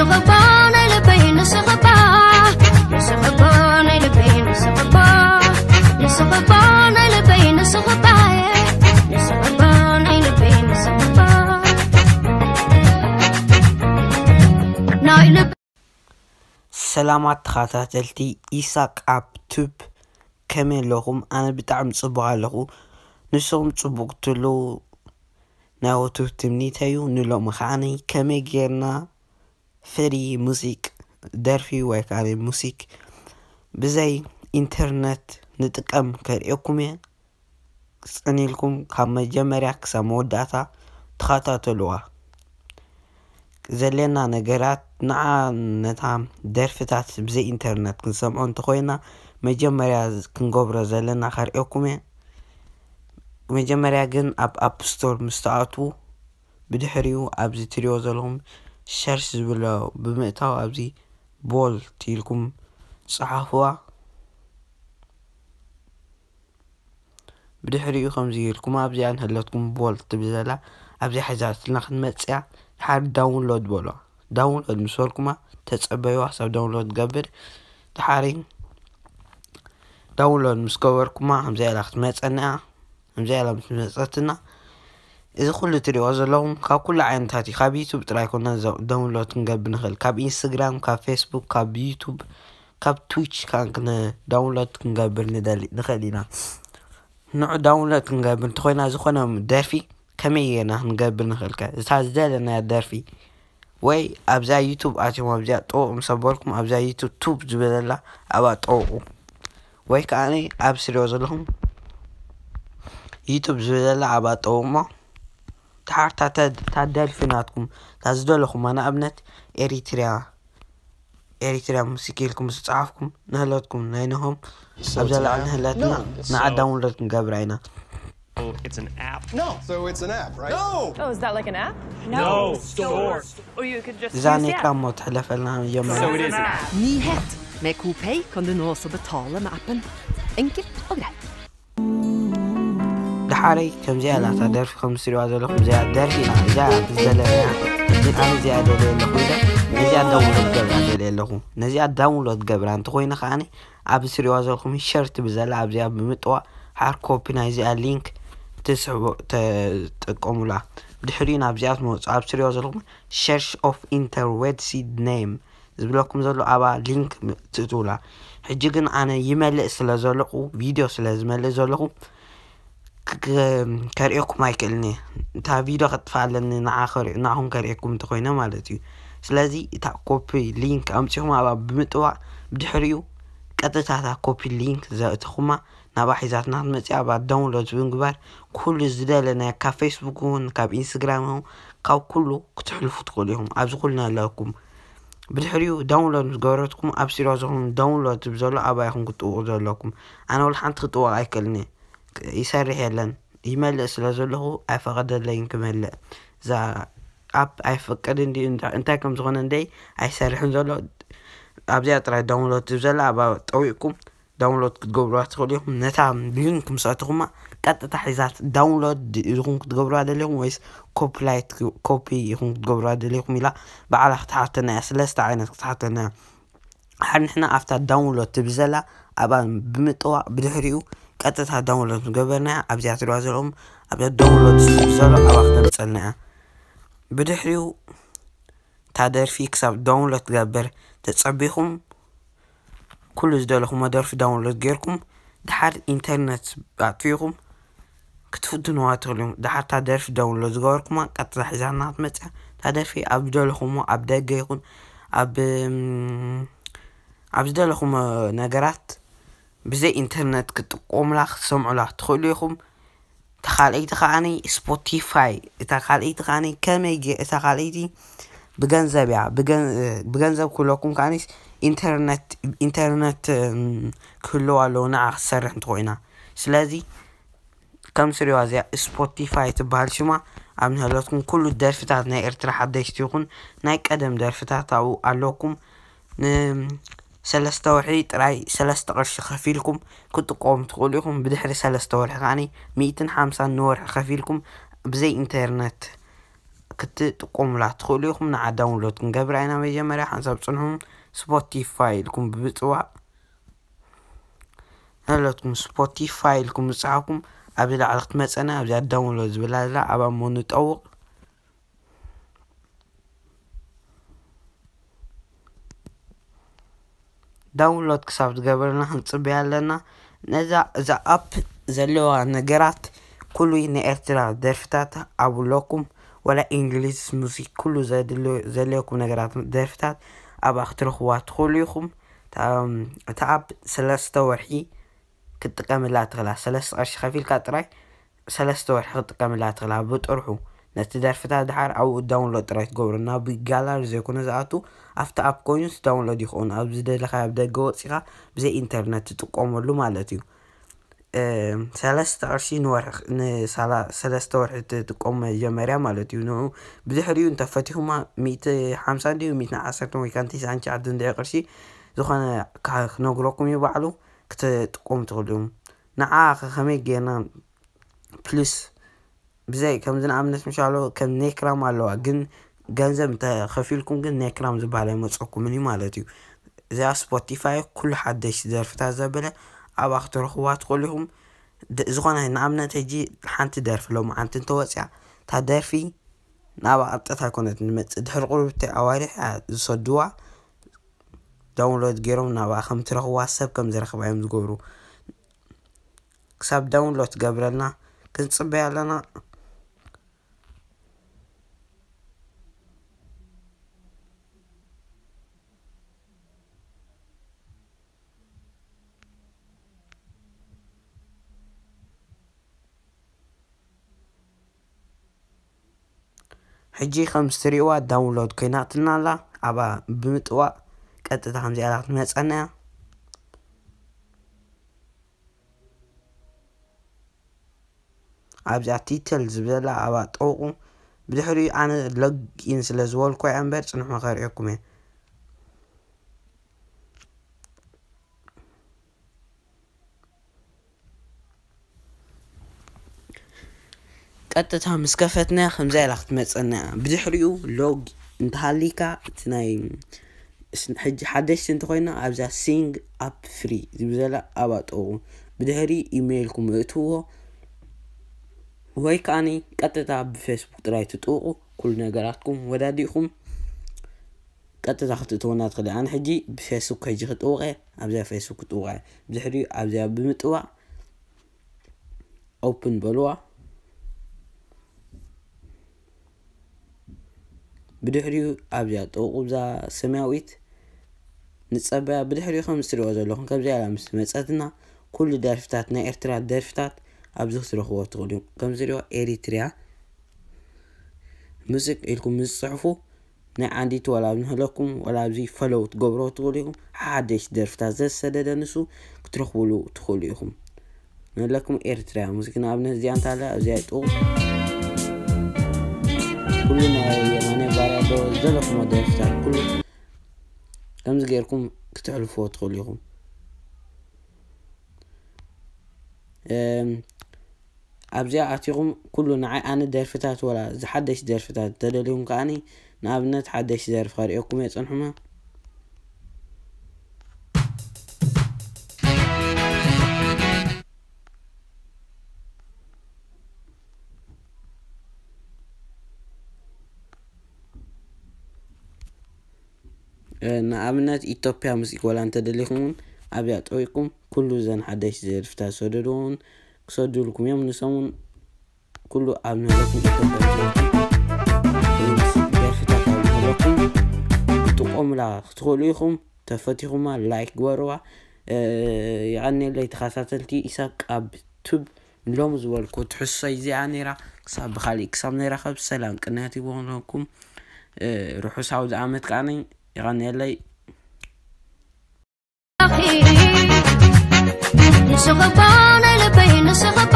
ንስኽባ ናይ ልበይ ንስኽባ ንስኽባ ናይ ልበይ ንስኽባ ንስኽባ ናይ ልበይ ንስኽባ ንስኽባ ናይ ልበይ ንስኽባ ናይ ልበይ ሰላማት ተኸታተልቲ ኢሳቅ ኣብ ቱብ፣ ከመይ ኣለኹም? ኣነ ብጣዕሚ ጽቡቕ ኣለኹ። ንስኹም ጽቡቕ ክትህልዉ ናይ ወትሩ ትምኒተይ እዩ። ንሎሚ ከዓኒ ከመይ ጌርና ፍሪ ሙዚቅ፣ ደርፊ ወይ ከዓ ሙዚክ ብዘይ ኢንተርነት ንጥቀም ከርእየኩም እየ። ጽን ኢልኩም ካብ መጀመርያ ክሳብ መወዳእታ ተኸታተልዋ። ዘድልየና ነገራት ንዓ ነታ ደርፍታት ብዘይ ኢንተርነት ክንሰምዖ እንተኾይና መጀመርያ ክንገብሮ ዘለና ከርእየኩም እየ። መጀመርያ ግን ኣብ ኣፕ ስቶር ምስ ትኣትዉ ብድሕሪኡ ኣብዚ ትሪኦ ዘለኹም ሰርች ዝብሎ ብምእታው ኣብዚ ቦልት ኢልኩም ጸሓፍዋ። ብድሕሪኡ ከምዚ ኢልኩም ኣብዚኣ ንህለትኩም ቦልት ትብል ዘላ ኣብዚኣ ሒዛትልና ክትመጽያ ድሓር ዳውንሎድ በሎ። ዳውንሎድ ምስ በልኩማ ተጸበይዋ ክሳብ ዳውንሎድ ትገብር። ድሓሪ ዳውንሎድ ምስ ገበርኩማ ከምዚኣ ኢላ ክትመጸና እያ። ከምዚኣ ኢላ ምስ መጸትና እዚ ኩሉ ትሪኦ ዘለኹም ካብ ኩሉ ዓይነታት እዩ። ካብ ዩቱብ ጥራይ ኮነ ዳውንሎድ ክንገብር ንኽእል። ካብ ኢንስታግራም፣ ካብ ፌስቡክ፣ ካብ ዩቱብ፣ ካብ ትዊች ከዓ ዳውንሎድ ክንገብር ንደሊ ንኽእል ኢና። ንዑ ዳውንሎድ ክንገብር እንተኾይና ዝኾነ ደርፊ ከመይ ጌርና ክንገብር ንኽእል ከ? እታ ዝደለናያ ደርፊ ወይ ኣብዛ ዩቱብ ኣትዮም ኣብዚኣ ጠውቑ ምስ ኣበልኩም ኣብዛ ዩቱብ ቱብ ዝበለላ ኣብኣ ጠውቑ። ወይ ከዓ ኣብ ስሪኦ ዘለኹም ዩቱብ ዝበለላ ኣብኣ ጠውቑ እሞ ድሓር እታ ደርፊ ናትኩም እታ ዝደለኹማ ንኣብነት ኤሪትሪያ ኤሪትሪያ ሙዚክ ኢልኩም ዝጸሓፍኩም ንህለትኩም ናይ ንሆም ኣብዛ ላዕሊ ንህለትና ንዓ ዳውንሎድ ክንገብራ ኢና። It's an app. No. So it's an app, right? No. Oh, is that like an app? No, store. Or you could just እዛ ኔክራ እሞ ትሕለፈልና መጀመርያ። So it is an app. Nyhet! Med KoPay kan du nå også betale med appen. Enkelt og greit. ድሓረይ ከምዚኣ ኢላ እታ ደርፊ ከም ትሪእዋ ዘለኹም እዚኣ ደርፊ ኢና እዚኣ ዘለናያ ኣነ እዚኣ ደልየ ኣለኹ ኢለ ነዚኣ ዳውንሎድ ገብራ ደልየ ኣለኹ። ነዚኣ ዳውንሎድ ገብራ እንተኾይነ ከዓኒ ኣብ ትሪእዋ ዘለኹም ሸር ትብል ዘላ ኣብዚኣ ብምጥዋቕ ሓር ኮፒ ናይዚኣ ሊንክ ትስሕቦ ተጥቀሙላ። ብድሕሪኡ ናብዚኣ ትመፁ ኣብ ትሪእዋ ዘለኹም ሸርሽ ኦፍ ኢንተርዌድ ሲድ ኔም ዝብለኩም ዘሎ ኣብኣ ሊንክ ትእትውላ። ሕጂ ግን ኣነ ይመልእ ስለ ዘለኹ ቪድዮ ስለ ዝመልእ ዘለኹ ከርእየኩም ኣይክእልን እየ። እታ ቪድዮ ከጥፍኣ ኣለኒ ንዓኹም ከርእየኩም እንተኮይነ ማለት እዩ። ስለዚ እታ ኮፒ ሊንክ ኣምፂኹም ኣብኣ ብምጥዋቕ ብድሕሪኡ ቀጥታ እታ ኮፒ ሊንክ ዘእተኹማ ናብኣ ሒዛትና ክትመፅእ ኣብኣ ዳውንሎድ ብምግባር ኩሉ ዝደለናዮ ካብ ፌስቡክ እውን ካብ ኢንስታግራም እውን ካብ ኩሉ ክትሕልፉ ትኽእሉ ኢኹም። ኣብዚ ኩሉ ኣለኩም። ብድሕሪኡ ዳውንሎድ ምስ ገበረትኩም ኣብ ስሪኦ ዘለኹም ዳውንሎድ ዝብል ዘሎ ኣብኣ ኢኹም ክትጥውቑ ዘለኩም። ኣነ ወላ ሓንቲ ክጥወቕ ኣይክእልን እየ። ይሰርሕ የለን ይመልእ ስለ ዘለኹ ኣይፈቐደለይን ክመልእ። እዛ ኣፕ ኣይፈቅድን ድዩ እንታይ ከም ዝኾነ እንደይ ኣይሰርሕን ዘሎ ኣብዚኣ ጥራይ ዳውንሎድ ዝብል ዘላ ኣብኣ ጠዊቕኩም ዳውንሎድ ክትገብሩዋ ትኽእሉ ኢኹም። ነታ ሊንክ ምስ ኣተኹማ ቀጥታ ሒዛት ዳውንሎድ ኢኹም ክትገብሩዋ ደሊኹም ወይስ ኮፒላይት ኮፒ ኢኹም ክትገብሩዋ ደሊኹም ኢላ ባዕላ ክትሓተና እያ። ስለስተ ዓይነት ክትሓተና እያ። ሓር ንሕና ኣብታ ዳውንሎድ ትብል ዘላ ኣብኣ ብምጥዋቕ ብድሕሪኡ ቀጥታ ዳውንሎድ ዝገበርናያ ኣብዚኣ ትሪእዋ ዘለኹም ኣብዛ ዳውንሎድ ትብል ዘሎ ኣብኣ ክተምፀልና እያ። ብድሕሪኡ እታ ደርፊ ክሳብ ዳውንሎድ ትገብር ተፀቢኹም ኩሉ ዝደለኹሞ ደርፊ ዳውንሎድ ጌርኩም ድሓር ኢንተርነት ኣጥፊእኹም ክትፍትንዋ ትኽእሉ እዮም። ድሓር እታ ደርፊ ዳውንሎድ ዝገበርኩማ ቀጥታ ሒዛትና ክትመፅያ እታ ደርፊ ኣብ ዝደለኹሞ ኣብ ደገ ይኹን ኣብ ኣብ ዝደለኹሞ ነገራት ብዘይ ኢንተርነት ክትጥቀሙላ ክትሰምዑላ ትኽእሉ ኢኹም። እታ ካልኣይቲ ከዓኒ ስፖቲፋይ እታ ካልኣይቲ ከዓኒ ከመይ ገ- እታ ካልኣይቲ ብገንዘብ እያ ብገን- ብገንዘብ ክብለኩም ከዓኒ ኢንተርነት ኢንተርነት እም፣ ክህልዋ ኣለዎ ንዓ ክትሰርሕ እንተኮይና ስለዚ ከም ስሪዋ እዚኣ ስፖቲፋይ ትበሃል ሽማ ኣብ ንህለትኩም ኩሉ ደርፍታት ናይ ኤርትራ ሓደሽቲ ይኹን ናይ ቀደም ደርፍታት ኣብኡ ኣለኩም ንሰለስተ ወርሒ ጥራይ ሰለስተ ቅርሺ ከፊልኩም ክትጥቀሙ ትኽእሉ ኢኹም። ብድሕሪ ሰለስተ ወርሒ ከዓኒ ሚእትን ሓምሳን ንወርሒ ከፊልኩም ብዘይ ኢንተርነት ክትጥቀሙላ ትኽእሉ ኢኹም። ንዓ ዳውንሎድ ክንገብራ ኢና። መጀመርያ ሓንሳብ ጽንሑ፣ ስፖቲፋይ ኢልኩም ብምጽዋዕ፣ ናለትኩም ስፖቲፋይ ኢልኩም ምጽሓፍኩም ኣብዚ ላዕሊ ክትመጸና፣ ኣብዚኣ ዳውንሎድ ዝብላ ኣላ፣ ኣብኣ እሞ ንጠውቕ። ዳውንሎድ ክሳብ ዝገበረና ክንጽበያ ኣለና። ነዛ፣ እዛ ኣፕ ዘለዋ ነገራት፣ ኩሉ ናይ ኤርትራ ደርፍታት ኣብ ኣለኩም፣ ወላ እንግሊዝ ሙዚክ፣ ኩሉ ዘድልዮ-፣ ዘድልየኩም ነገራት ደርፍታት ኣብኣ ክትረኽብዋ ትኽእሉ ኢኹም። እታ፣ እታ ኣፕ ሰለስተ ወርሒ ክትጥቀምላ ትኽእላ። ሰለስተ ቅርሺ ከፊልካ ጥራይ ሰለስተ ወርሒ ክትጥቀምላ ትኽእላ። ብጥርሑ ነቲ ደርፍታት ድሓር ኣብኡ ዳውንሎድ ጥራይ ትገብሮ። ናብ ጋላሪ ዘይኮነ ዝኣቱ፣ ኣብቲ ኣፕ ኮይኑ ዳውንሎድ ይኸውን። ኣብ ዝደለኻዮ ኣብ ደገ ወጺኻ ብዘይ ኢንተርነት ትጥቀመሉ ማለት እዩ። እም፣ ሰለስተ ቅርሺ ንወርሒ፣ ንሳላ-፣ ሰለስተ ወርሒ ትጥቀም መጀመርያ ማለት እዩ። ንኡ ብድሕሪኡ እንተፈቲኹማ ሚእቲ ሓምሳ እንድዩ፣ ሚእቲ ዓሰርተ ወይ ከዓ ንተስዓን ትሽዓተን እንድዒ ቅርሺ ዝኾነ ካ-፣ ክነግረኩም እዩ ባዕሉ፣ ክትጥቀሙ ትኽእሉ እዮም። ንዓ ከ ከመይ ጌርና ፕሊስ ብዘይ ከምዚ ንኣብነት ምሻሎ ከም ኔክራም ኣለዋ፣ ግን ገንዘብ እንተኸፊልኩም ግን ኔክራም ዝበሃል ኣይመፀኩምን እዩ ማለት እዩ። እዚኣ ስፖቲፋይ ኩሉ ሓደሽቲ ደርፍታት ዘበለ ኣብኣ ክትረኽብዋ ትኽእሉ ኢኹም። ድ-፣ ዝኾነ ንኣብነት ሕጂ ሓንቲ ደርፊ ሎማዓንቲ እንተወፅያ፣ እታ ደርፊ ናብኣ ቀጥታ ኣይኮነት ንመፅእ፣ ድሕሪ ቁርብቲ ኣዋርሕ እያ ዝሰድዋ። ዳውንሎድ ገይሮም ናብኣ ከም ትረኽብዋ፣ ሰብ ከም ዝረኽባ እዮም ዝገብሩ። ክሳብ ዳውንሎድ ትገብረልና ክንጽበያ ኣለና። ሕጂ ከም እትሪእዋ ዳውንሎድ ኮይናትና ኣላ። ኣብኣ ብምጥዋቕ ቀጥታ ከምዚኣ ኢላ ክትመጸና እያ። ኣብዚኣ ቲትል ዝብለላ ኣብኣ ጠውቑ። ብድሕሪኡ ኣነ ሎግ ኢን ስለ ዝበልኩ እያ እምበር ጽንሑ ከርእየኩም እየ። ቀጥታ ምስ ከፈትና ከምዛ ኢላ ክትመፀና እያ። ብድሕሪኡ ሎግ እንተሃሊካ እቲ ናይ ስ-፣ ሕጂ ሓደሽቲ እንተኮይና ኣብዛ ሲንግ ኣፕ ፍሪ ዝብል ዘላ ኣብኣ ጠውቑ። ብድሕሪ ኢሜይልኩም እእትዎ ወይ ከዓኒ ቀጥታ ብፌስቡክ ጥራይ ትጥውቑ። ኩሉ ነገራትኩም ወዳዲእኩም ቀጥታ ክትእትወና ትኽእል። ኣነ ሕጂ ብፌስቡክ ሕጂ ክጥውቐ፣ ኣብዚኣ ፌስቡክ ክጥውቐ። ብድሕሪኡ ኣብዚኣ ብምጥዋቕ ኦፕን በልዋ። ብድሕሪኡ ኣብዚኣ ጥውቑ ብዛ ሰማያዊት ንጸበያ። ብድሕሪኡ ከም እትሪእዎ ዘለኹም ከምዚኣ ኢላ ምስ መጸትና ኩሉ ደርፍታት፣ ናይ ኤርትራ ደርፍታት ኣብዚ ክትረኽቦ ትኽእሉ ኢኹም። ከም ዝሪኦ ኤሪትሪያ ሙዚክ ኢልኩም ምስ ትጽሕፉ ናይ ዓንዲቲ ዋላ ኣብ ንህለኩም ዋላ ኣብዚ ፈለው ትገብሮ ትኽእሉ ኢኹም። ሓደሽ ደርፍታት ዘሰደደ ንሱ ክትረኽብሉ ትኽእሉ ኢኹም። ንህለኩም ኤርትሪያ ሙዚክ ንኣብነት እዚኣ እንታለ ኣብዚኣ ይጥቑ ኩሉ ናይ የማነ ባርያ ዶ ዘለኹሞ ደርፍታት ኩሉ ከምዚ ጌርኩም ክትሕልፍዎ ትኽእሉ ኢኹም። እም፣ ኣብዚኣ ኣቲኹም ኩሉ ንዓይ ኣነ ደርፍታት ወላ ዝሓደሽ ደርፍታት ተደልዩም ከኣኒ ንኣብነት ሓደሽ ደርፊ ከርእየኩም እየ ጽንሑና። እ፣ ንኣብነት ኢትዮጵያ ሙዚክ ወላ እንተደሊኹም እውን ኣብያ ጠዊቅኩም ኩሉ ዘን ሓደሽ ደርፍታት ዝሰደድዎ እውን ክሰዱልኩም እዮም። ንሶም እውን ኩሉ ኣብ ንህለኩም ኢትዮጵያ ዝዘውቱ ደርፍታት ኣብ ንህለኩም ክትጥቀሙላ ክትኽእሉ ኢኹም። ተፈቲኹማ ላይክ ግበርዋ። እ፣ የቐንየለይ ተኸታተልቲ ኢሳቅ ኣብ ቱብ ሎም ዝበልኩ ትሕሶይ እዚኣ ነይራ። ክሳብ ብኻሊእ ክሳብ ንራኸብ ሰላም ቅንያት ይኹንኩም። እ፣ ርሑስ ኣውደ ዓመት ከዓኒ የቐንየለይ። ንስኺ እባ ናይ ልበይ፣ ንስኺ እባ